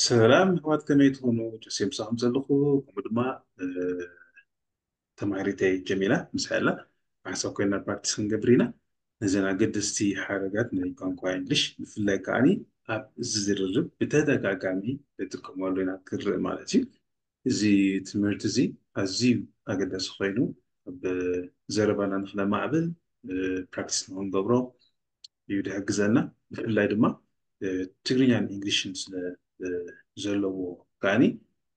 ሰላም ኣሕዋት፣ ከመይ ትኾኑ? ጆሴ ምሳኹም ዘለኹ፣ ከምኡ ድማ ተማሃሪተይ ጀሚላ ምሳይ ኣላ። ብሓንሳብ ኮይና ፕራክቲስ ክንገብር ኢና። ነዘን ኣገደስቲ ሓረጋት ናይ ቋንቋ እንግሊሽ፣ ብፍላይ ከዓኒ ኣብ እዚ ዝርርብ ብተደጋጋሚ ንጥቀመሉ ኢና ክርእ ማለት እዩ። እዚ ትምህርቲ እዚ ኣዝዩ ኣገዳሲ ኮይኑ፣ ኣብ ዘረባና ንክነማዕብል ፕራክቲስ ንክንገብሮ እዩ ዝሕግዘና። ብፍላይ ድማ ትግርኛን እንግሊሽን ስለ ዘለዎ ከዓኒ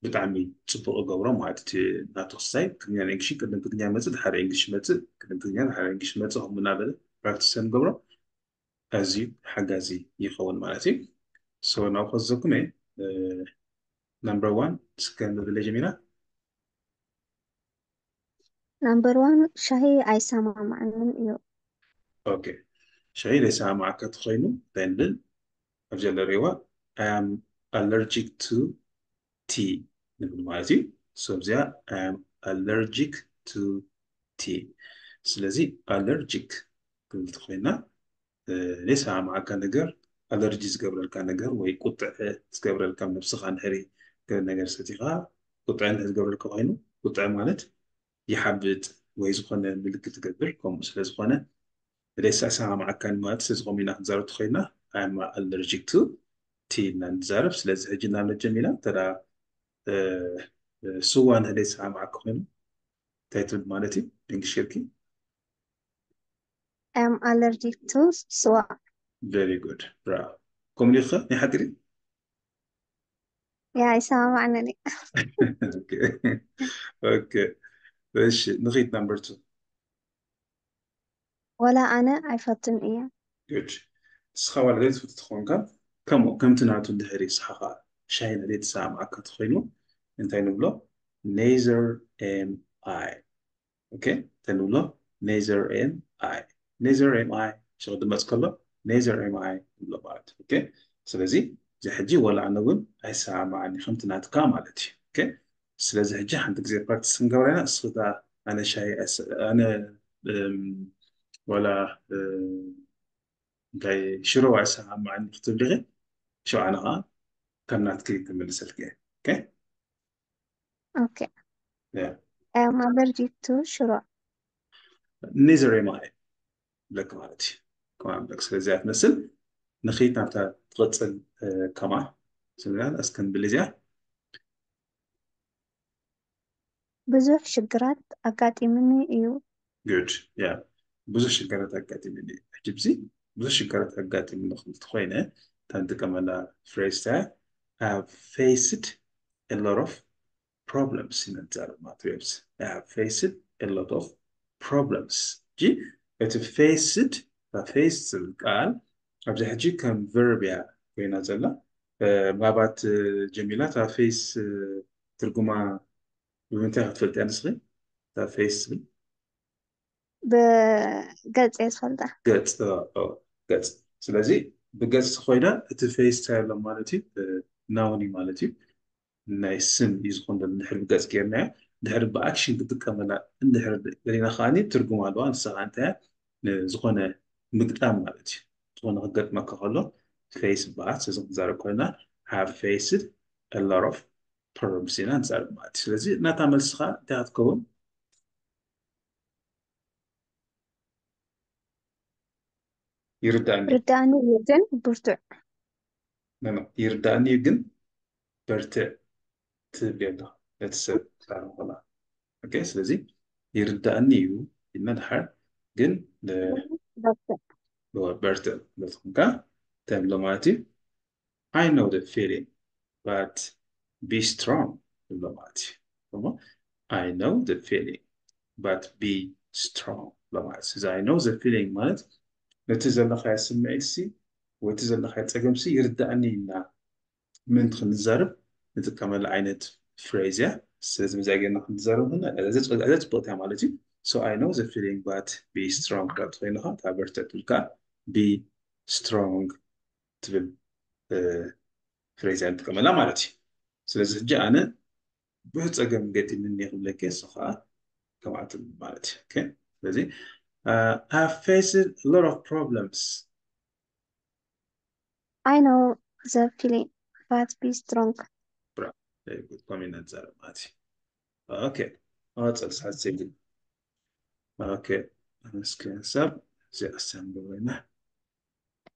ብጣዕሚ ፅቡቅ ይገብሮ ማለት እቲ ናቱ ክስታይ። ትግርኛን እንግሊሽን፣ ቅድም ትግርኛ መፅእ ድሓር እንግሊሽ መፅእ፣ ቅድም ትግርኛ ድሓር እንግሊሽ መፅእ፣ ከምኡ እናበለ ፕራክቲስ ንገብሮ ኣዝዩ ሓጋዚ ይኸውን ማለት እዩ። ሶ ናብ ከዘኩም እየ። ነምበር ዋን እስከ ንብለ ጀሚራ። ናምበር ዋን ሻሂ ኣይሰማማዓንን እዩ። ኦኬ፣ ሻሂ ዘይሰማማዓካ ተኮይኑ እንታይ ንብል? ኣብዚ ዘሎ ሬዋ I am allergic to tea ንብል ማለት እዩ። ሶ ኣብዚኣ I am allergic to tea። ስለዚ ኣለርጂክ ክንብል ተኮይና ዘይሰማማዓካ ነገር፣ ኣለርጂ ዝገብረልካ ነገር ወይ ቁጥዐ ዝገብረልካ፣ ነብስኻ እንድሕሪ ገለ ነገር ሰቲኻ ቁጥዐ እንድሕሪ ዝገብረልካ ኮይኑ፣ ቁጥዐ ማለት ይሓብጥ ወይ ዝኾነ ምልክት ትገብር። ከምኡ ስለ ዝኾነ ዘይሰማማዓካ ማለት ስለ ዝኾነ ኢና ክንዛረብ ተኮይና I am allergic to tea ኢልና ንዛረብ። ስለዚ ሕጂ ናብ ነጀሚና ተዳ ስዋ እንድሕሪ ዘይሰማማዓካ ኮይኑ እንታይ ትብል ማለት እዩ? እንግሊሽ ጌርኪ I am allergic to ስዋ። Very good, bravo። ከምኡ ዲኺ? ናይ ሓቂ ድዩ? ያ ኣይሰማማዕንን እዩ። ኦኬ፣ ኦኬ። እሺ፣ ንኺድ ናምበር ቱ። ወላ ኣነ ኣይፈቱን እየ። ጉድ። ንስኻ ዋላ ዘይትፈቱ ተኾንካ፣ ከምኡ ከምቲ ናቱ እንድሕሪ ንስኻ ኸዓ ሻሂ ዘይተሰማማዓካ ተኾይኑ እንታይ ንብሎ? Neither am I። ኦኬ፣ እንታይ ንብሎ? Neither am I። Neither am I ሽቕ ድመፅ ከሎ neither am I ንብሎ ማለት እዩ። ኦኬ፣ ስለዚ እዚ ሕጂ ወላ ኣነ እውን ኣይሰማማዓኒ ከምቲ ናትካ ማለት እዩ። ኦኬ፣ ስለዚ ሕጂ ሓንቲ ግዜ ፕራክቲስ ክንገብራ ኢና። እስኺ እታ ኣነ ሻሂ ኣይሰ-፣ ኣነ እም፣ ወላ እም፣ እንታይ ሽሮ ኣይሰማማዓኒ ክትብሊ ኢኺ፣ ሽዑ ኣነ ኸዓ ከም ናትኪ ክምልሰልኪ እየ። ኦኬ? ኦኬ። ያ። I am allergic to ሽሮ። Neither am I ብለክ ማለት እዩ። ከማን ብለክ። ስለዚ እያ ትመስል። ንኺድ ናብታ ትቕፅል፣ እ፣ ከማ ስምና እስከ ንብል እዚኣ። ብዙሕ ሽግራት ኣጋጢሙኒ እዩ። ጉድ። ያ። ብዙሕ ሽግራት ኣጋጢሙኒ እዩ። ሕጂ ብዚ ብዙሕ ሽግራት ኣጋጢሙኒ ክብል ተኾይነ፣ እታ ንጥቀመላ ፍሬዝ እታ I have faced a lot of problems ኢና ንዛረብ ማለት እዩ። I have faced a lot of problems። ሕጂ እቲ faced፣ እታ face ዝብል ቃል ኣብዚ ሕጂ ከም ቨርብ እያ ኮይና ዘላ። እ፣ ምናልባት፣ እ፣ ጀሚላ እታ ፌስ፣ እ፣ ትርጉማ ብምንታይ ክትፈልጥያ ንስኺ? እታ ፌስ ትብል ብገጽ እየ ዝፈልጣ። ገጽ፣ ኦ፣ ኦ፣ ገጽ። ስለዚ ብገጽ ኮይና እቲ ፌስ እንታይ ኣሎ ማለት እዩ? እ፣ ናውን እዩ ማለት እዩ። ናይ ስም እዩ ዝኸውን ዘሎ። እንድሕር ብገጽ ጌርናዮ፣ እንድሕር ብኣክሽን ክጥቀመላ እንድሕር ደሊና ከዓኒ ትርጉም ኣለዋ። ንሳ ከዓ እንታይ እያ? ንዝኾነ ምግጣም ማለት እዩ። ዝኾነ ክገጥመካ ከሎ ፌስ ይበሃል። ስለዚ ክንዛረብ ኮይና have faced a lot of problems ኢና ንዛረብ ማለት እዩ። ስለዚ ናታ መልሲ ከዓ እንታይ ክትከውን? ይርዳእኒ። ርዳእኒ እዩ ግን ብርቱዕ። ኖ፣ ኖ፣ ይርዳእኒ እዩ ግን በርትዕ ትብል ኣለኻ ነቲ ሰብ ዛረብ ከላ። ኦኬ፣ ስለዚ ይርዳእኒ እዩ ኢልና ድሓር ግን ለ-፣ በርትዕ። በርትዕ ክትብል ከለኻ እንታይ ንብሎ ማለት እዩ? I know the feeling, but be strong ንብሎ ማለት እዩ። እሞ I know the feeling, but be strong ንብሎ ማለት እዩ። እዚ I know the feeling ማለት ነቲ ዘለኻዮ ስምዒት ሲ ወይ እቲ ዘለኻዮ ጸገም ሲ ይርዳእኒ ኢልና ምእንቲ ክንዛረብ ንጥቀመሉ ዓይነት ፍሬዝ እያ። ስለዚ ብዛ ጌርና ክንዛረብ ከለና እዛ ጽ-፣ እዛ ጽብቕቲ እያ ማለት እዩ። So I know the feeling, but be strong ክትብል ከለኻ እታ በርትዕ ትብል ከኣ be strong ትብል፣ እ፣ ፍሬዝ እያ ንጥቀመላ ማለት እዩ። ስለዚ ሕጂ ኣነ ብዙሕ ጸገም ገጢምኒ ክብለኪ፣ እሱ ከኣ ከምኣ ትብል ማለት እዩ። ኦኬ? ስለዚ፣ እ፣ I have faced a lot of problems. I know the feeling. but be strong. Bravo. Very good. ከምኡ ኢና ንዛረብ ማለት እዩ። ኦኬ፣ መቐጸል ሰዓት ዘይብሉ። ኦኬ፣ እስኪ ሰብ እዚ ኣስተንብሮ ኢና።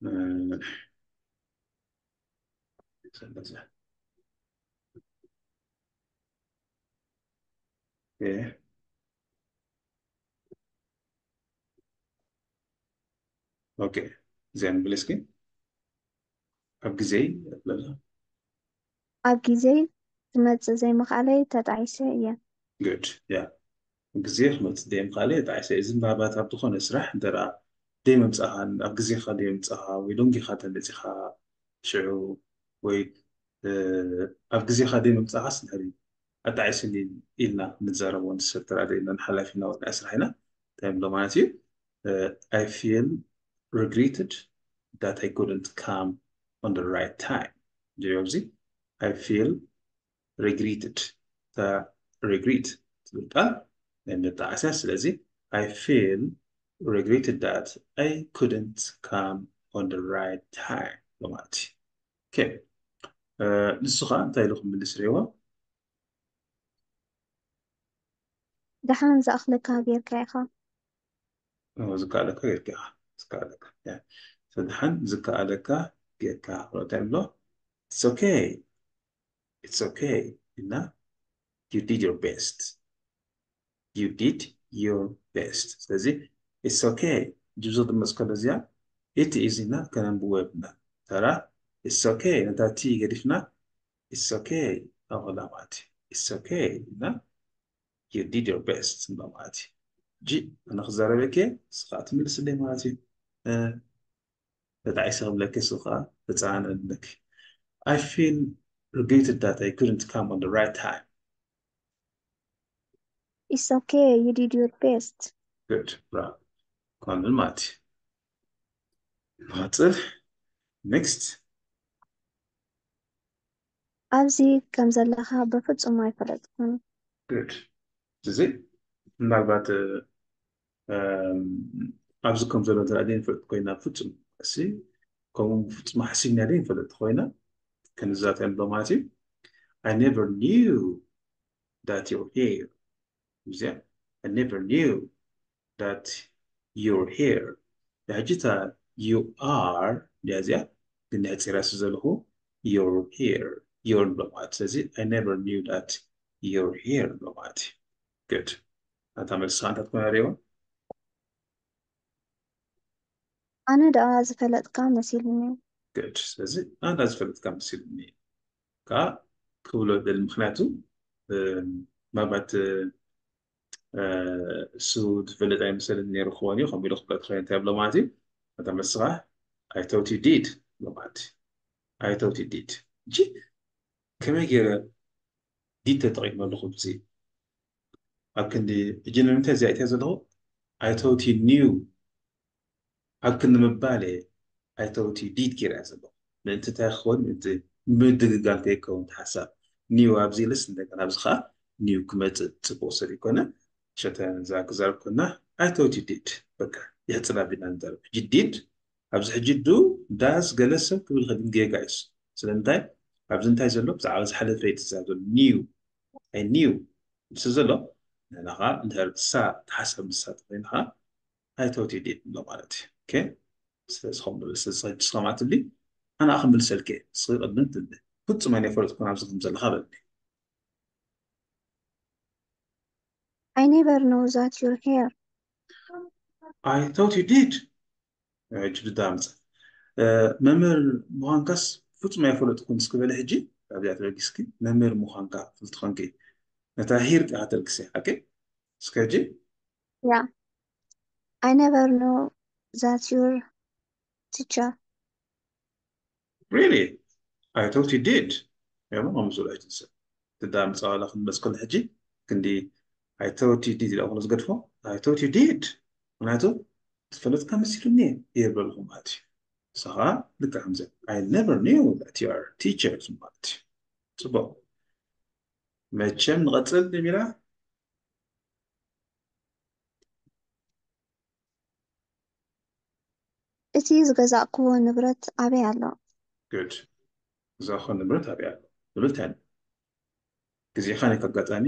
እ፣ ሰለዘ። ኦኬ። ኦኬ፣ እዚኣ ንብል እስኪ። ኣብ ግዜይ ኣለና። ኣብ ግዜይ ክመጽእ ዘይምኽኣለይ ተጣዒሰ እየ። Good. ያ፣ ግዜ ክመጽእ ዘይምኽኣለይ ተጣዒሰ። እዚ ምናልባት ኣብ ዝኾነ ስራሕ እንተ ደኣ ደይ ምምጻእኻን፣ ኣብ ግዜኻ ደይ ምምጻእኻ ወይ ሎንጊኻ ተመጺኻ ሽዑ ወይ፣ እ፣ ኣብ ግዜኻ ደይ ምምጻእኻስ ድሕሪ ኣጣዒስኒ ኢልና ንዛረቦ ንሰብ ተራድእና ንሓላፊና ወይ ናይ ስራሕ ኢና። እንታይ ንብሎ ማለት እዩ? እ፣ I feel regretted that I couldn't come on the right time። ጀዮ ኣብዚ I feel regretted። እታ regret ትብል ቃል ናይ መጣዓስያ። ስለዚ I feel regretted that I couldn't come on the right time ማለት እዩ። ኦኬ፣ እ፣ ንሱ ኸዓ እንታይ ኢሉ ክምልስ ርኤዎ? ደሓን ዝኣኽለካ ጌርካ ኢኻ። ኦ፣ ዝከኣለካ ጌርካ ኢኻ። ዝከኣለካ። ያ። So ደሓን ዝከኣለካ ጌርካ። እንታይ ኣሎ? It's okay. It's okay። እና you did your best. You did your best። ስለዚ it's okay። ጅብዞ ድመፅ ከሎ እዚኣ it is እና ከነንብቦ የብልና። ተራ it's okay። ነታ ቲ ገዲፍና it's okay። ኣኸላ ማለት እዩ። It's okay። እና you did your best ንብሎ ማለት እዩ። ጂ ኣነ ክዛረበኪ ንስኻ ትምልስለይ ማለት እዩ። እ፣ ተጣዒሰ ክብለኪ ንስኻ ተጸዓነለኪ። I feel regretted that I couldn't come on the right time. It's okay, you did your best. Good. Bravo. ከምኡ ማለት እዩ። ንቐጽል። Next። ኣብዚ ከም ዘለኻ ብፍጹም ኣይፈለጥኩን። Good። እዚ ምናልባት፣ እ፣ እም፣ ኣብዚ ከም ዘሎ እንተ ደኣ ዘይንፈልጥ ኮይና ፍጹም እሲ ከምኡ ፍጹም ሓሲብና ዘይንፈልጥ ኮይና ክንዛተ ንብሎ ማለት እዩ። I never knew that you're here። እዚኣ I never knew that you're here። ሕጂ እታ you are ድያ እዚኣ ግን ነሕጺራ ስለ ዘለኹ you're here። You're ንብሎ ማለት። ስለዚ I never knew that you're here ንብሎ ማለት እዩ። Good። እታ መልሲ እንታይ ትኾን ርኤዋ? ኣነ ደኣ ዝፈለጥካ መሲሉኒ። Good። ስለዚ ኣነ ደኣ ዝፈለጥካ መሲሉኒ ከኣ ክብሎ ደሊ። ምኽንያቱ፣ እ፣ ምናልባት፣ እ፣ እ፣ እሱ ዝፈልጥ ኣይመሰልን ነይሩ ክኸውን እዩ፣ ከምኡ ኢሉ ክብሎ ትኽእል እንታይ ብሎ ማለት እዩ። እታ መልስኻ I thought you did ብሎ ማለት እዩ። I thought you did። እጂ ከመይ ገይረ did ተጠቒመ ኣለኹ? እዚ ኣብ ክንዲ ሕጂ ንምንታይ እዚኣ እትያ ዘለኹ? I thought you knew ኣብ ክንዲ ምባል እየ I thought you did ገይረ ዘለኹ። ምእንቲ እንታይ ክኸውን? ምእንቲ ምድግጋም ከይከውን እቲ ሓሳብ። Knew ኣብዚ ኢልስ እንደገና ኣብዚ ኸዓ knew ክመጽእ ጽቡቕ ሰብ ይኮነ። ሸተ እዛ ክዛረብ ኮና I thought you did። በቃ ይሕጽር ኣቢልና ንዛረብ። ሕጂ did ኣብዚ ሕጂ do፣ does ገለ ሰብ ክብል ይኽእል ግን ጌጋ እዩ እሱ። ስለምንታይ? ኣብዚ እንታይ ዘሎ? ብዛዕባ ዝሓለፈ እዩ ዝዛረብ ዘሎ። Knew። I knew። ምስ ዘሎ ንሕና ኸዓ እንድሕር ንሳ ትሓሰብ ንሳ ተኾይና ኸዓ I thought you did ንብሎ ማለት እዩ። ኦኬ? ስለዚ ከምኡ ንብል። ስለዚ ሕጂ ንስኻ ማለት ትብሊ ኣነ ክምልሰልኪ እየ። ንስኺ ቅድሚ ትብሊ። ፍጹም ኣይነበርኩን ኣብዚ ከም ዘለኻ በልኒ። I never know that you're here. I thought you did። ሕጂ ድዳ ምጽእ። እ፣ መምህር ምዃንካስ ፍጹም ኣይፈለጥኩን እስኪ በሊ ሕጂ ኣብዚኣ ተበጊስኪ መምህር ምዃንካ ፍልጥ ኾንኪ ነታ here ጥራሕ ተልግሲ ሓቂ እስከ ሕጂ Yeah. I never know that you're teacher. Really? I thought you did. የማ ከምዚ ዝብሎ ኣይትንስእ። ትዳ ምጻዋላ ክንመጽ ከሎ ሕጂ ክንዲ I thought you did ኢላ ኮነ ዝገድፎ። I thought you did። ምክንያቱ ትፈልጥካ መሲሉኒ እየ ይብለልኩም ማለት እዩ። ንስኻ ልክዕ ከምዚ I never knew that you are teachers ማለት እዩ። ጽቡቕ። መቸም ንቐጽል ዲሚራ። እቲ ዝገዛእክዎ ንብረት ኣበይ ኣሎ? Good። ዝኸውን ንብረት ኣበይ ኣሎ ዝብል እንታይ ኣሎ? ግዜኻ ናይ ኣጋጣሚ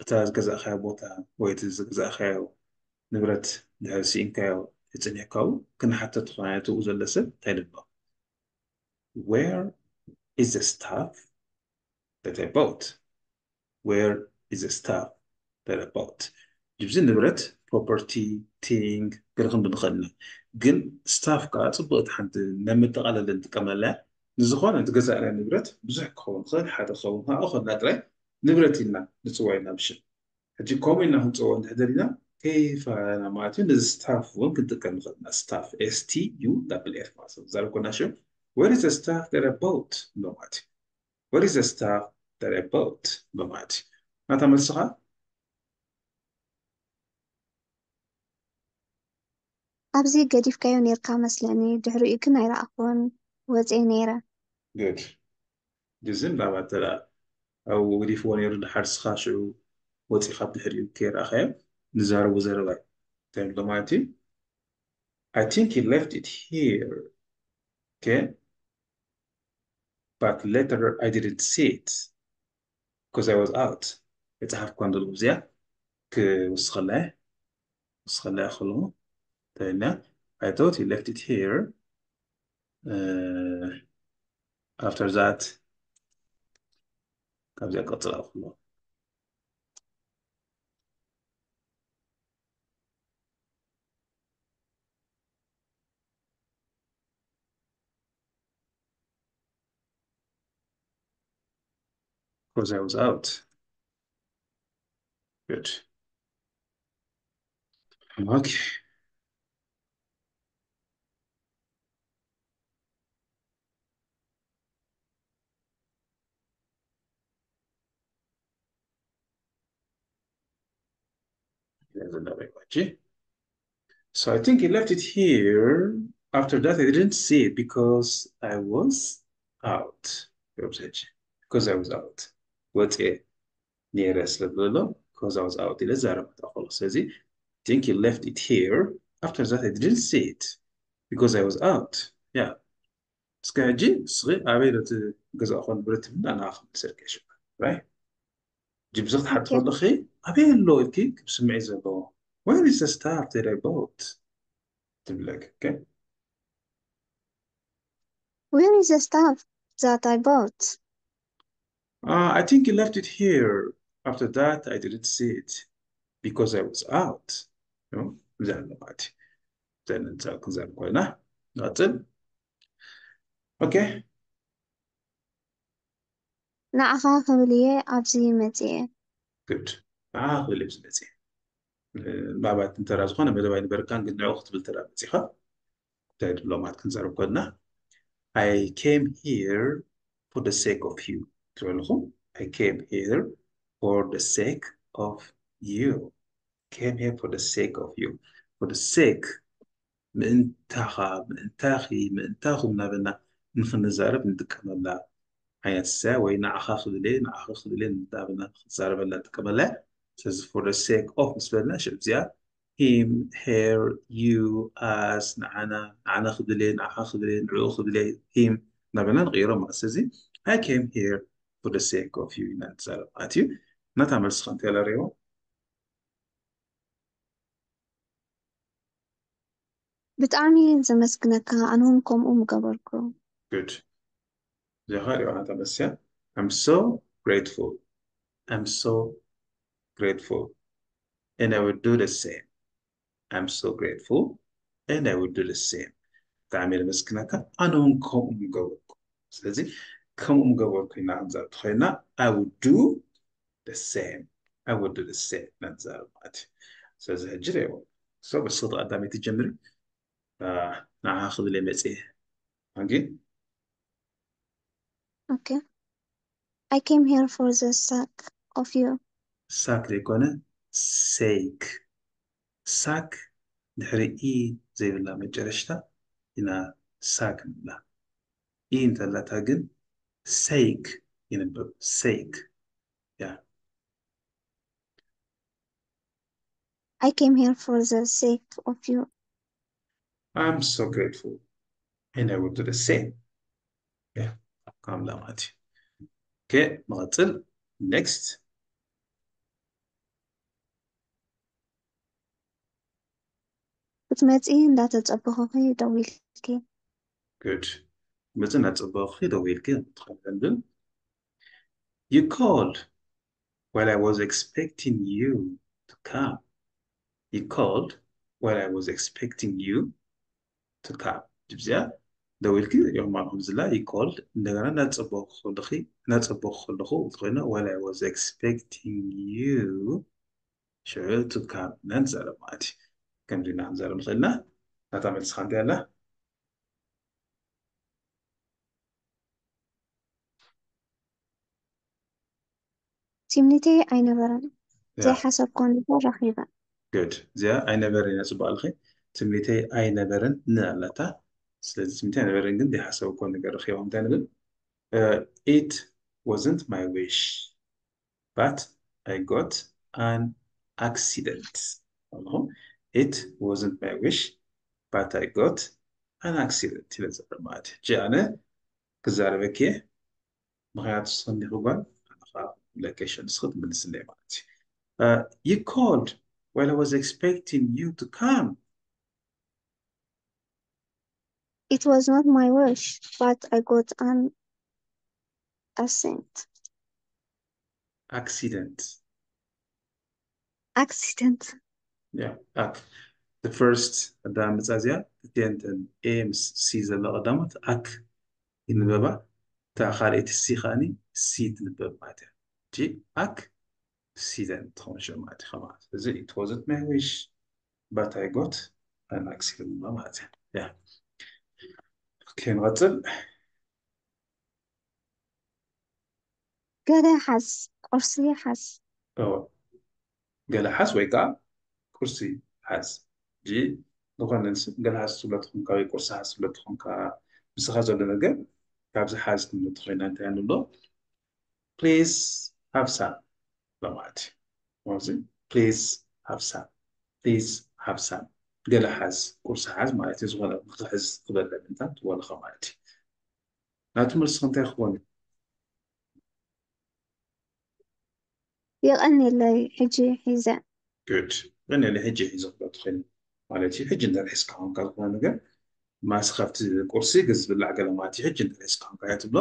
እታ ዝገዛእካዮ ቦታ ወይ እቲ ዝገዛእካዮ ንብረት ድሕሪ ስኢንካዮ ይጽንሕካው ክንሓተት ዝኾነ ትብኡ ዘሎ ሰብ እንታይ ልብሎ? Where is the stuff that I bought? Where is the stuff that I bought? ጅብዚ ንብረት property thing ገለ ክንብል ንኽእል ኢና። ግን ስታፍ ከዓ ጽቡቕቲ ሓንቲ ናይ መጠቓለሊ ንጥቀመላ እያ። ንዝኾነ ዝገዛእናዮ ንብረት ብዙሕ ክኸውን ይኽእል፣ ሓደ ክኸውን፣ ማእኸልና ጥራይ ንብረት ኢልና ንጽውዖ ኢና ብሽም። ሕጂ ከምኡ ኢልና ክንጽውዖ እንድሕር ደሊና ከይፋና ማለት እዩ፣ ነዚ ስታፍ እውን ክንጥቀም ንኽእል ኢና። ስታፍ S T U double F ማለት እዩ። ዛረብ ኮና ሽም where is the stuff that I bought ንብሎ ማለት እዩ። Where is the stuff that I bought ንብሎ ማለት እዩ። ናታ መልስኻ ኣብዚ ገዲፍካዮ ኔርካ መስለኒ፣ ድሕሪኡ ግን ኣይረኣኽዎን፣ ወፅየ ነይረ። Good. ግዝም ላባ ተላ ኣብኡ ገዲፍዎ ነይሩ፣ ድሓር ስኻ ሽዑ ወፂኻ ብድሕሪኡ ከይረኣኻዮ ንዛረቡ ዘረባ እዩ። እንታይ ንብሎ ማለት እዩ? I think he left it here. Okay? But later I didn't see it because I was out. የፀሓፍኳ እንደልኩ እዚኣ ክውስኸላ እየ። ውስኸላ እየ ከለኹ ተበልና I thought he left it here. Uh, after that ካብዚኣ ቀፅላ ከሎ because I was out. Good. Okay. So I think he left it here. After that, I didn't see it because I was out. Because I was out. ወፅየ ነይረ ስለ ዝብሎ because I was out ኢለ ዛረብ ክተኸሎ። ስለዚ I think he left it here. After that, I didn't see it because I was out. Yeah. እስከ ሕጂ እስኺ ኣበይ ዶ እቲ ገዛእኹ ንብረት ትብልና ንዓኺ ክምልሰልኪ እየ ሽዑ። Right? ሕጂ ብዚ ክትሓቲ ከለኺ ኣበይ ኣሎ ኢልኪ ክስምዒ ዘለዎ Where is the stuff that I bought? ትብለኪ። Okay? Where is the stuff that I bought? Uh, I think he left it here. After that, I didn't see it because I was out. You know? እዚኣ ኣለማት ዘንንሳ ክንዘር ኮይና ናጽል okay ንዓኻ ክብል እየ ኣብዚ መፅየ። Good. ንዓኻ ክብል እየ ኣብዚ መፅየ። ምናልባት እንተራ ዝኾነ መደብ ኣይነበርካን ግን ንዕኡ ክትብል ተራ መፂኻ እንታይ ድብሎማት ክንዘርብ ኮንና I came here for the sake of you ትበልኹ I came here for the sake of you came here for the sake of you for the sake ምእንታኻ ምእንታኺ ምእንታኹም እናበልና ንኽንዛረብ ንጥቀመላ ዓይነት እያ ወይ ንዓኻ ክብል እየ ንዓኺ ክብል እየ እናበልና ንኽንዛረበላ ንጥቀመላ እያ ስለዚ for the sake of ምስ በልና ሽዑ እዚኣ him her you us ንዓና ንዓና ክብል እየ ንዓኻ ክብል እየ ንዕኡ ክብል እየ him እናበልና ንቕይሮ ማለት ስለዚ I came here for the sake of you ኢና ንዛረብ ማለት እዩ ናታ መልስኻ እንታይ ላረይዎ ብጣዕሚ ዘመስግነካ ኣነውን ከምኡ ምገበርኩ Good. እዚኻ ሪኦ ኣንታ መስያ I'm so grateful. I'm so grateful. And I will do the same. I'm so grateful. And I will do the same. ብጣዕሚ የመስግነካ ኣነ እውን ከምኡ ምገበርኩ ስለዚ ከምኡ ምገበርኩ ኢና ንዛብ ተኸይና I will do the same. I will do the same ኢና ንዛረብ ማለት እዩ ስለዚ ሕጂ ሪኦ so በስኽቲ ቀዳመይቲ ጀምሪ ንዓ ክብል እየ መፅየ ኣንጊ Okay. I came here for the sake of you. ሳክ ዘይኮነ sake ሳክ ድሕሪ ኢ ዘይብላ መጨረሽታ ኢና ሳክ ንብላ ኢ እንተላታ ግን sake ይንበብ sake yeah I came here for the sake of you. I'm so grateful and I will do the same. Yeah, ካምላ ማለት እዩ። Okay፣ ንቐጽል። Next። ክትመፂ እንዳተፀበኹኺ ደዊልኪ። Good። ክትመፂ እንዳተፀበኹኺ ደዊልኪ። ትኸንብል። You called while I was expecting you to come. You called while I was expecting you to come። ጅብዚያ ደዊልኪ ይኹም ኣለኹም ዝላ you called፣ እንደገና እናፀበኹ ከለኺ እናፀበኹ ከለኹ ዝኾይነ while I was expecting you ሽዑ to come ኢና ንዛረብ ማለት እዩ። ከምዚ ኢና ክንዛረብ ንኽእል ኢና። ናታ መልስኻ እንታይ ኣላ? ትምኒተይ ኣይነበረን። ያ። ዘይሓሰብኮ ነገር ረኺበ። Good። እዚኣ ኣይነበረን እያ ጽቡቕ ኣለኺ። ትምኒተይ ኣይነበረን ን ኣላታ። ስለዚ ትምኒተይ ኣይነበረን ግን ዘይሓሰብኮ ነገር ረኺበ። እንታይ ንብል? Uh, it wasn't my wish, but I got an accident። ኣለኹም? It wasn't my wish, but I got an accident። ኢለ ዝዛረብ ማለት እዩ። ሕጂ ኣነ ክዛረበኪ እየ። ምኽንያቱ ንስኺ እንዲኺ ጓል፣ ኣነ ኸዓ ለኬሽን ንስኺ ትምልስለይ ማለት እዩ። Uh, you called while I was expecting you to come. It was not my wish, but I got an accident. Accident. Accident. Yeah, ac. The first ኣዳምጻ እዚኣ እቲአን A ምስ C ዘለዋ ቀዳሞት ኣክ ይንበባ። እታ ካልኣይቲ C ከኣኒ C ትንበብ ማለት እያ። ሕጂ ኣክ accident ትኸውን ሽዑ ማለት እዩ። ከማን እዚ it wasn't my wish, but I got an accident ማለት እዩ። Yeah. Okay፣ ንቐጽል። ገለ ሓዝ፣ ቁርሲ ሓዝ። እወ። ገለ ሓዝ ወይ ከዓ ቁርሲ ሓዝ። ሕጂ ዝኾነ ንስ-፣ ገለ ሓዝ ትብሎ ተኾንካ ወይ ቁርሲ ሓዝ ትብሎ ተኾንካ፣ ምስኻ ዘሎ ነገር ካብዚ ሓዝ ክንብል ተኾይና እንታይ ኣሎ? Please have some ማለት እዩ። ኣብዚ please have some፣ please have some፣ ገለ ሓዝ፣ ቁርሲ ሓዝ ማለት እዩ። ዝኾነ ንኽሕዝ ዝበለ ምንታት ትበልኻ ማለት እዩ። ናቱ መልስኻ እንታይ ክኾን እዩ? የቐንየለይ፣ ሕጂ ሒዘ። Good። ግን ያለ ሕጂ ሒዘ ክሎ ትኽእል ማለት እዩ። ሕጂ እንድሕር ሒዝካ ኮንካ ዝኾነ ነገር ማስ ካብቲ ቁርሲ ግን ዝብላዕ ገለ ማለት እዩ። ሕጂ እንድሕር ሒዝካ ኮንካ እያ ትብሎ።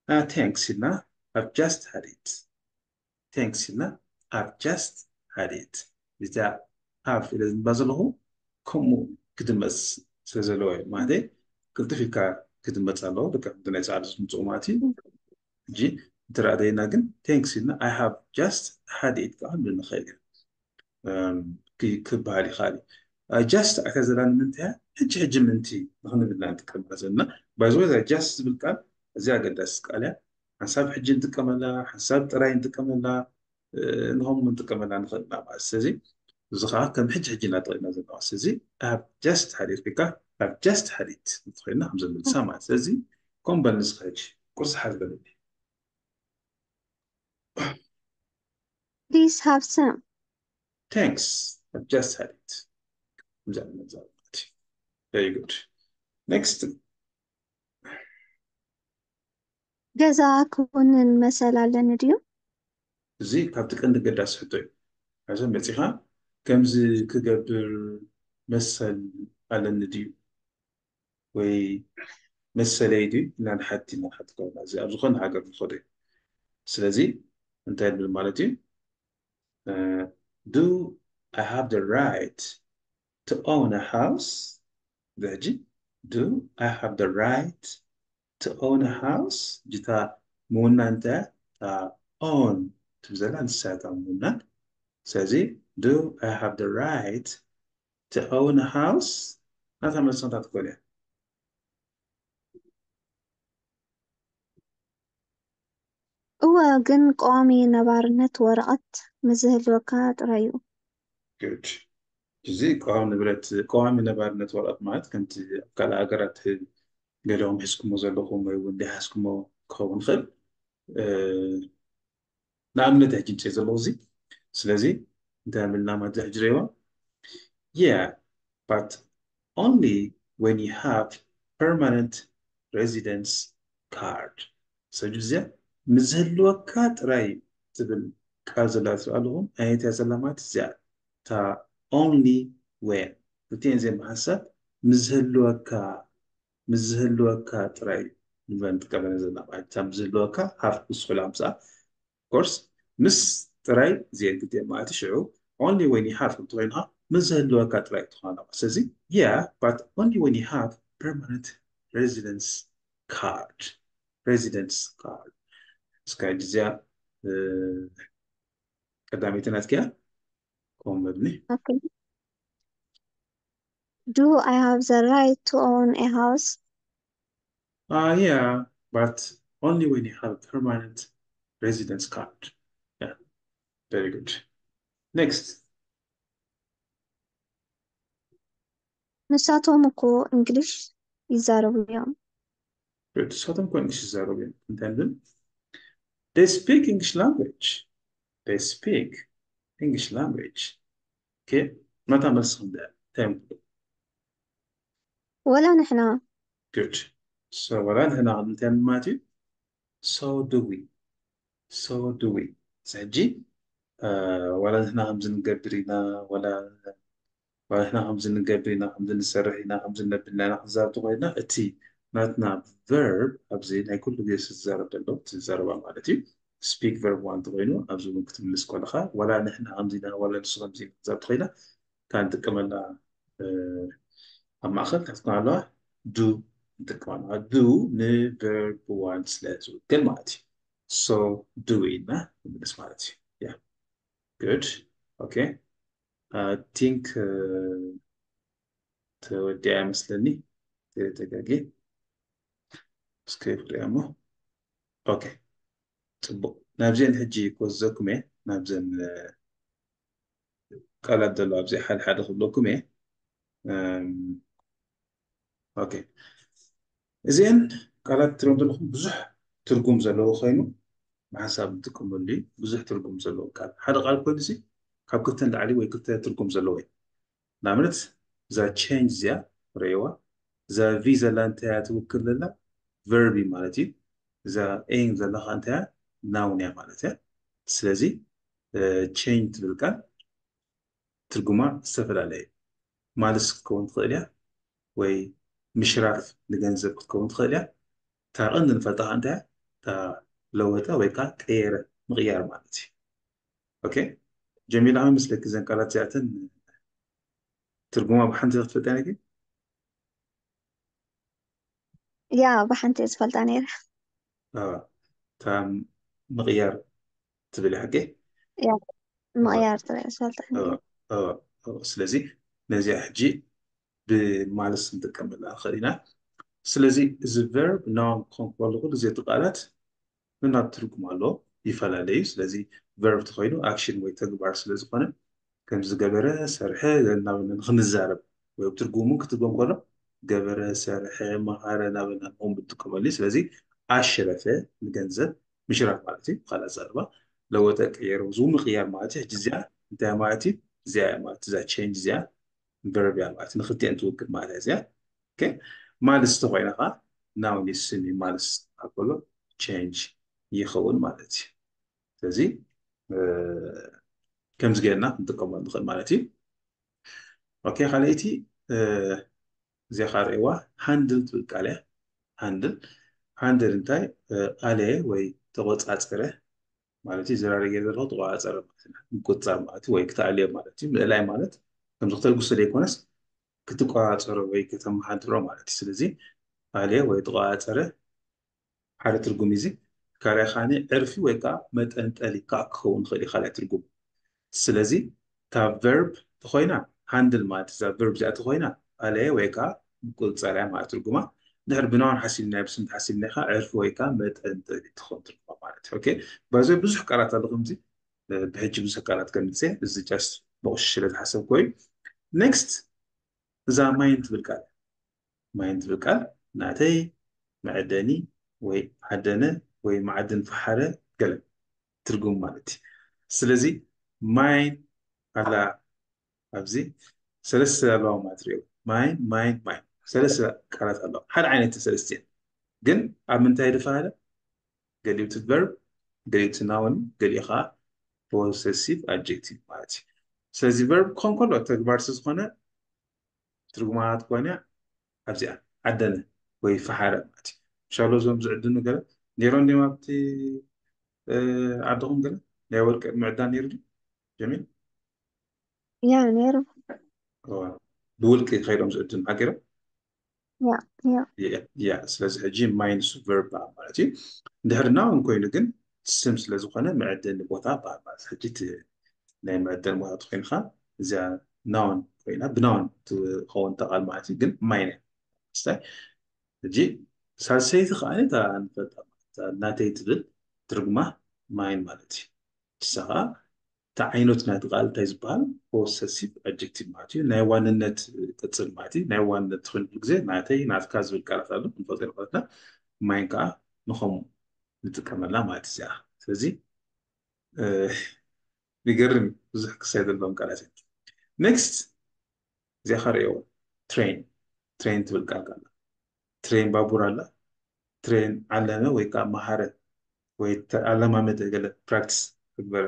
Uh, thanks ኢልና፣ I've just had it። Thanks ኢልና፣ I've just had it። እዚኣ have ኢለ ዝንባ ዘለኹ ከምኡ ክድመፅ ስለ ዘለዎ እዩ። ማለት ቅልጥፍ ኢልካ ክድመፅ ኣለዎ። ልክዕ ከምቲ ናይ ፃዕዱ ዝምፅኡ ማለት እዩ። ሕጂ እንተ ደኣ ደይና ግን thanks ኢልና I have just had it ከዓ ክንብል ንኽእል ኢና። እም፣ ክ-፣ ክበሃል ይኽእል እዩ። እ፣ just ኣታ ዘላ ንምንታይ እያ? ሕጂ ሕጂ ምእንቲ ንኽንብል ኢና ንጥቀመላ ዘለና። By the way፣ እዛ just ዝብል ቃል እዚኣ ኣገዳሲት ቃል እያ። ሓንሳብ ሕጂ ንጥቀመላ፣ ሓንሳብ ጥራይ ንጥቀመላ፣ እ፣ ንኸምኡ ንጥቀመላ ንኽእል ኢና ማለት። ስለዚ እዚ ኸዓ ከም ሕጂ ሕጂ ኢና ተጠቒምና ዘለና። ስለዚ I've just had it ወይ ከዓ I've just had it እንተኾይንና ከም ዘምልሳ ማለት። ስለዚ ኮን በል ንስኻ ሕጂ ቁርሲ ሓዝ በልኒ። Please have some. Thanks. I've just had it። ከምዚ ዓይነት ዘረባ ማለት እዩ። Very good. Next። ገዛ ክውንን መሰል ኣለኒ ድዩ? እዚ ካብቲ ቀንዲ ገዳሲ ሕቶ እዩ። ኣብዚ መፂኻ ከምዚ ክገብር መሰል ኣለኒ ድዩ? ወይ መሰለይ ድዩ? ኢልና ንሓቲ ኢና ንሓቲ ከለና፣ እዚ ኣብ ዝኾነ ሃገር ንኸዶ እዩ። ስለዚ እንታይ ንብል ማለት እዩ? Uh, do I have the right to own a house? ሕጂ do I have the right to own a house? ሕጂ እታ ምውናን እንታይ እያ? እታ own ትብል ዘላ ንሳ እያ እታ ምውናን። ስለዚ do I have the right to own a house? ናታ መልሲ እንታይ ትኮን እያ? እወ፣ ግን ቀዋሚ ነባርነት ወረቐት ምስ ዝህልወካ ጥራይ እዩ። Good። እዚ ቀዋሚ ንብረት፣ ቀዋሚ ነባርነት ወረቐት ማለት ከምቲ ኣብ ካልእ ሃገራት ገሊኹም ሒዝኩሞ ዘለኹም ወይ እውን ዘይሓዝኩሞ ክኸውን ይኽእል። እ፣ ንኣብነት ሕጂ እንጽእ ዘለኹ እዚ። ስለዚ እንታይ ኣብልና ማለት ሕጂ ርእይዋ? Yeah, but only when you have permanent residence card። ሰጅ እዚኣ ምስ ዝህልወካ ጥራይ ትብል ቃል ዘላ ትርኢ ኣለኹም። ኣየት እያ ዘላ ማለት እዚኣ እታ only when። ክልቲኤን እዚአን ብሓንሳብ ምስ ዝህልወካ ምስ ዝህልወካ ጥራይ ንብለን ጥቀመለን ዘለና ማለት እታ ምስ ዝህልወካ ሃፍ ምስ ኮይና ምሳኣ ኮርስ ምስ ጥራይ እዚአን ክልቲኤን ማለት እዩ። ሽዑ only when you have እንተኮይንካ ምስ ዝህልወካ ጥራይ ትኾና። ስለዚ yeah but only when you have permanent residence card residence card እስካ እዚኣ ቀዳመይቲ ናትኪያ ኮመድኒ Okay. Do I have the right to own a house? Uh, yeah, but only when you have a permanent residence card. Yeah, very good. Next. ንሳቶም እኮ እንግሊሽ ይዛረቡ እዮም። ንሳቶም እኮ እንግሊሽ ይዛረቡ እዮም። እንታይ ንብል? They speak English language. They speak English language. Okay. መታ መልሲ ክንደ እንታይ ምክሉ? ወላ ንሕና Good. So ወላ ንሕና እንታይ ማለት እዩ? So do we. So do we. ሕጂ ወላ ንሕና ከምዚ ንገብር ኢና ወላ ንሕና ከምዚ ንገብር ኢና ከምዚ ንሰርሕ ኢና ከምዚ ነብልና ኢና ክንዛረብ ተኮይና እቲ ናትና verb ኣብዚ ናይ ኩሉ ግዜ ዝዛረብ ዘሎ ዝዛረባ ማለት እዩ። Speak verb one ተኮይኑ ኣብዚ እውን ክትምልስ ከለካ ወላ ንሕና ከምዚ ኢና ወላ ንሱ ከምዚ ኢና ክንዛረብ ተኮይና እታ ንጥቀመላ ኣብ ማእከል እንታይ ክትኮን ኣለዋ? Do ንጥቀም ኣለዋ። Do ን verb one ስለ ዝውክል ማለት እዩ። So do we ኢልና ንምልስ ማለት እዩ። Yeah. Good. Okay. I think ተወዲኣ ይመስለኒ። ተጋጊ እስከ ፍሪያሞ። Okay. ጽቡቅ። ናብዚአን ሕጂ ክወስደኩም እየ። ናብዘን ቃላት ዘሎ ኣብዚ ሓደ ሓደ ክብለኩም እየ። Okay. እዚአን ቃላት ትሪኦም ዘለኹም ብዙሕ ትርጉም ዘለዎ ኮይኑ ብሓንሳብ ንጥቀመሉ እዩ። ብዙሕ ትርጉም ዘለዎ ቃል ሓደ ቃል ኮይኑ ሲ ካብ ክልተ ንላዕሊ ወይ ክልተ ትርጉም ዘለዎ እዩ። ንኣብነት እዛ change እዚኣ ርእይዋ እዛ V ዘላ እንታይ እያ ትውክል ዘላ verb እዩ ማለት እዩ። እዛ N ዘላ ከዓ እንታይ እያ noun እያ ማለት እያ። ስለዚ change ትብል ቃል ትርጉማ ዝተፈላለየ እዩ። ማልስ ክትከውን ትኽእል እያ ወይ ምሽራፍ ንገንዘብ ክትከውን ትኽእል እያ። እታ ቀንዲ ንፈልጣ ከዓ እንታይ እያ? እታ ለወጠ ወይ ከዓ ቀየረ ምቕያር ማለት እዩ። Okay ጀሚላ ከመይ መስለኪ እዘን ቃላት እዚኣተን ትርጉማ ብሓንቲ ክትፈልጣ ነኪ? ያ ብሓንቲ እየ ዝፈልጣ ነይረ። እታ ምቕያር ትብል ሓቂ ምቕያር ጥራይ ዝፈልጣ ስለዚ ነዚኣ ሕጂ ብማልስ ንጥቀመላ ንኽእል ኢና። ስለዚ እዚ verb noun ክኸውን ከለኹ እዚ ቃላት ነናብ ትርጉም ኣሎ ይፈላለዩ። ስለዚ verb ተኮይኑ action ወይ ተግባር ስለዝኾነ ከም ዝገበረ ሰርሐ እናበልና ንክንዛረብ ወይ ትርጉሙ ክትርጎም ከሎ ገበረ ሰርሐ መሃረ እናበልና ንኹም ብትጥቀመሉ። ስለዚ ኣሸረፈ ንገንዘብ ምሽራፍ ማለት እዩ። ብካልእ ኣዛርባ ለወጠ ቀየረ ዝው ምቅያር ማለት እዩ። ሕጂ እዚኣ እንታይ ማለት እዩ? እዚኣ ማለት እዛ change እዚኣ verb እያ ማለት ንክልቲኤን ትውክል ማለት እያ እዚኣ። ማልስ ተኮይና ከዓ noun እዩ ስም እዩ። ማልስ ኣበሎ change ይኸውን ማለት እዩ። ስለዚ ከምዚ ጌርና ክንጥቀመሉ ንኽእል ማለት እዩ። ኦኬ ካልኣይቲ እዚኣ ከዓ ርእይዋ handle ትብል ቃል እያ። Handle handle እንታይ ኣለ ወይ ተቆፃፀረ ማለት እዩ። ዘራሪ ገይር ዘለዎ ተቆፃፀረ ማለት እዩ። ምቁፅፃር ማለት እዩ ወይ ክተኣልዮ ማለት እዩ። ምእላይ ማለት ከምዚ ክተልግሶ ዘይኮነስ ክትቆፃፀሮ ወይ ከተመሓድሮ ማለት እዩ። ስለዚ ኣለ ወይ ተቆፃፀረ ሓደ ትርጉም እዚ ካልኣይ ካኒ ዕርፊ ወይ ከዓ መጠንጠሊ ከዓ ክኸውን ይኽእል እዩ ካልኣይ ትርጉም። ስለዚ እታ verb ተኮይና handle ማለት እዛ verb እዚኣ ተኮይና ኣለ ወይ ከዓ ምቁፅፃር እያ ማለት ትርጉማ። ድሕሪ ብናውን ሓሲብና ብስም ተሓሲብና ከዓ ዕርፊ ወይ ከዓ መጠንጠሊ ትኸውን ትርጉማ ማለት እዩ። ኦኬ በዚ ብዙሕ ቃላት ኣሎ ከምዚ ብሕጂ ብዙሕ ቃላት ከምፅእ እዚ just ብቁሽሽ ስለ ዝሓሰብኩ እዩ። Next እዛ mine ትብል ቃል mine ትብል ቃል ናተይ መዐደኒ ወይ ዓደነ ወይ መዓድን ፈሓረ ገለ ትርጉም ማለት እዩ። ስለዚ mine ኣላ ኣብዚ ሰለስተ ኣለዋ ማለት ሪኦ mine mine mine ሰለስተ ቃላት ኣለዋ ሓደ ዓይነት ሰለስተ ግን ኣብ ምንታይ ድፋለ ገሊኡ እቲ verb፣ ገሊኡ እቲ noun፣ ገሊኡ ከዓ possessive adjective ማለት እዩ። ስለዚ verb ክኾን ከሎ ተግባር ስለ ዝኾነ ትርጉማ ትኾን እያ ኣብዚኣ ዓደነ ወይ ፈሓረ ማለት እዩ። ሻሎ እዞም ዝዕድኑ ገለ ነይሮም ድዮም ኣብቲ ዓድኹም ገለ ናይ ወርቂ ምዕዳን ነይሩ ድዩ ጀሚል? ያ ነይሩ። ብውልቂ ከይዶም ዝዕድኑ ሓቂሮ? ያ ያ ያ ስለዚ ሕጂ ማይንሱ ቨርብ ማለት እዩ። እንድሕር ናውን ኮይኑ ግን ስም ስለዝኾነ መዕደኒ ቦታ በሃል ማለት ሕጂ ናይ መዕደኒ ቦታ ተኮይንካ እዚኣ ናውን ኮይና ብናውን ትኸውን ተቃል ማለት እዩ። ግን ማይን ስታይ ሕጂ ሳልሰይቲ ከዓ እታ ንፈልጣ ናተይ ትብል ትርጉማ ማይን ማለት እዩ። ንሳ ከዓ እቲ ዓይነት ናይቲ ቃል እንታይ ዝበሃል? ፖሰሲቭ ኣጀክቲቭ ማለት እዩ። ናይ ዋንነት ቅፅል ማለት እዩ። ናይ ዋንነት ትኾን ግዜ ናተይ ናትካ ዝብል ቃላት ኣሎ ክንፈልጦ ንክእለትና ማይን ከዓ ንኸምኡ ንጥቀመላ ማለት እዚኣ። ስለዚ ይገርም ብዙሕ ክሳይ ዘለዎም ቃላት እዮም። ኔክስት እዚኣ ከርእየዎ ትሬን ትሬን ትብል ቃል ቃል ትሬን ባቡር ኣላ። ትሬን ዓለመ ወይ ከዓ መሃረ ወይ ኣለማመደ ገለ ፕራክቲስ ተግበረ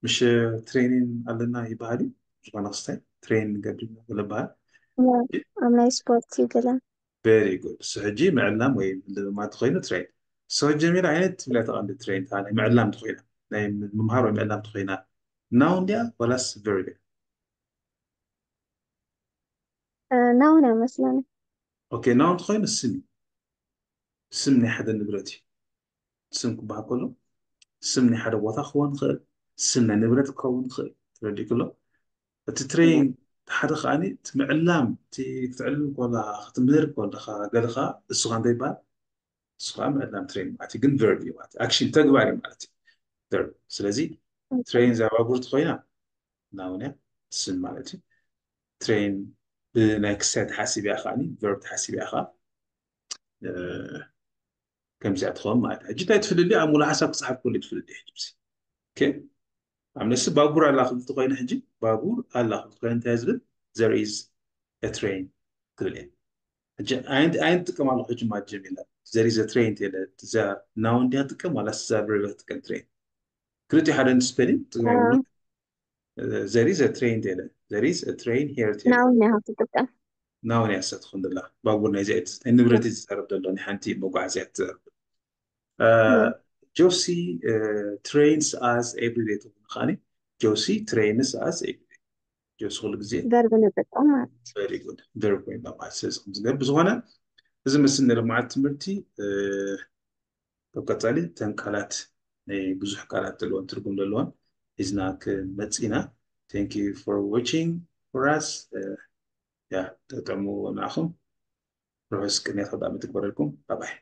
ምሽ ትሬኒን ኣለና ይበሃል እዩ። ዝኾነ ክስታይ ትሬን ንገብር ገለ በሃል ኣብ ናይ ስፖርት እዩ ገለ very good። እሱ ሕጂ ምዕላም ወይ ምልምማድ ተኮይኑ ትሬን። So ጀሚላ ዓይነት ትብላ ተቐንዲ ትሬን ታ ናይ ምዕላም ተኮይና ናይ ምምሃር ወይ ምዕላም ተኮይና ናውን ድያ ወላስ ቨርብ እያ? ናውን ኣይመስለኒ። ኦኬ ናውን ተኮይኑ ስም እዩ። ስም ናይ ሓደ ንብረት እዩ። ስም ክበሃል ከሎ ስም ናይ ሓደ ቦታ ክኸውን ይኽእል፣ ስም ናይ ንብረት ክኸውን ይኽእል። ተረዲእኩ ኣሎ? እቲ ትሬን ሓደ ከዓኒ እቲ ምዕላም እቲ ክትዕልም ከለኻ ክትምህር ከለኻ ገለኻ እሱ ከዓ እንታይ ይበሃል? እሱ ከዓ ምዕላም ትሬን ማለት እዩ። ግን ቨርብ እዩ ማለት ኣክሽን ተግባር እዩ ማለት እዩ። ቨርብ ስለዚ ትሬን እዛ ባቡር ተኮይና ናውን እያ ስም ማለት እዩ። ትሬን ብናይ ክሳይ ተሓሲብ እያ ከዓኒ ቨርብ ተሓሲብ እያ ከዓ ከምዚኣ ትኸውን ማለት እዩ። ሕጂ እንታይ ትፍልልዩ ኣብ ሙሉ ሓሳብ ክፅሓፍ ከሉ ትፍልልዩ ሕጂ ኦኬ ኣብ ነሲ ባቡር ኣላ ክብል ተኮይነ ሕጂ ባቡር ኣላ ክብል ተኮይነ እንታይ ዝብል there is a train ክብል እየ። ሕጂ ኣይንት ኣይንት ጥቀም ኣለኹ ሕጂ ማጀም ኢለ there is a train ተለ እዛ ናውን ድያ ትጥቀም ዋላ እዛ ቨርብ ትጥቀም ትሬን ክልቲኡ ሓደ ስፔሊንግ ትግራይ there is a train ተለ there is a train here ተለ ናውን እያ ትጥቀም። ናውን እያ ሰትኹን ደላ ባቡር ናይ ዚኣ ናይ ንብረት እዩ ዝዛረብ ዘሎ ናይ ሓንቲ መጓዓዝያ ትዛረብ። ጆሲ trains us every day ትብሉ ከዓኒ ጆሲ trains us every day ጆሲ ኩሉ ግዜ ቨርብ ንጥቀም ማለት very good ቨርብ ኮይና ማለት ስለዚ ከምዚ ገር ብዝኾነ እዚ ምስል ንልምዓት ትምህርቲ ካብ ቀፃሊ ተን ቃላት ናይ ብዙሕ ቃላት ዘለዎን ትርጉም ዘለዎን ሒዝና ክመፅእ ኢና። Thank you for watching for us። ያ ተጠሙ ንዓኹም ርሑስ ቅንያት ኣጋጣሚ ትግበረልኩም። ባባይ